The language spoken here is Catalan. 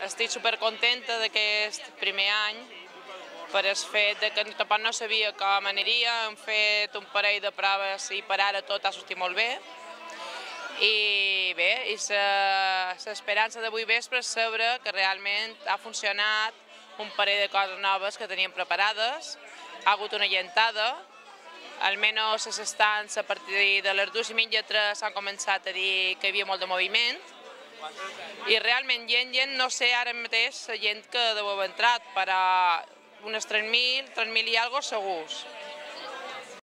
estic supercontenta d'aquest primer any per el fet que tampoc no sabia com aniria, hem fet un parell de proves i per ara tot ha sortit molt bé. I bé, l'esperança d'avui vespre és saber que realment ha funcionat un parell de coses noves que teníem preparades, ha hagut una llentada, almenys les estants a partir de les 2:30 s'han començat a dir que hi havia molt de moviment i realment gent, no sé ara mateix la gent que deu haver entrat, però unes 3.000 i alguna cosa segurs.